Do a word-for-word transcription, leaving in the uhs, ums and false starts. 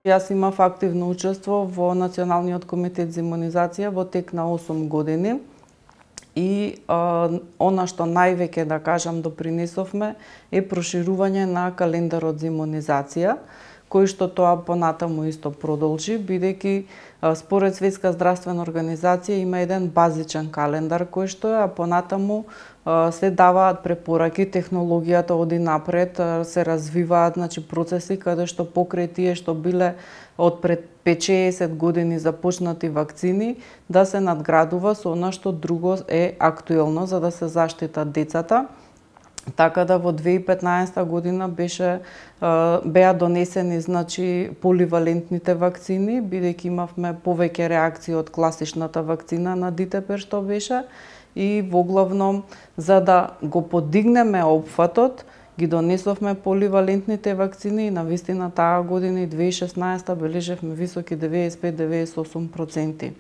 Јас имав активно учество во Националниот комитет за имунизација во тек на осум години и а, она што највеќе, да кажам, допринесовме е проширување на календарот за имунизација, кој што тоа понатаму исто продолжи, бидејќи според Светска здравствена организација има еден базичен календар кој што е, а понатаму се даваат препораки, технологијата оди напред, се развиваат, значи, процеси каде што покрај тие што биле од пред пет-шеесет години започнати вакцини, да се надградува со она што друго е актуелно за да се заштитат децата. Така да во две илјади и петнаесета година беше беа донесени, значи, поливалентните вакцини, бидејќи имавме повеќе реакции од класичната вакцина на Дитепер што беше, и воглавном за да го подигнеме опфатот, ги донесовме поливалентните вакцини и навистина таа година и две илјади и шеснаесета бележевме високи деведесет и пет до деведесет и осум проценти.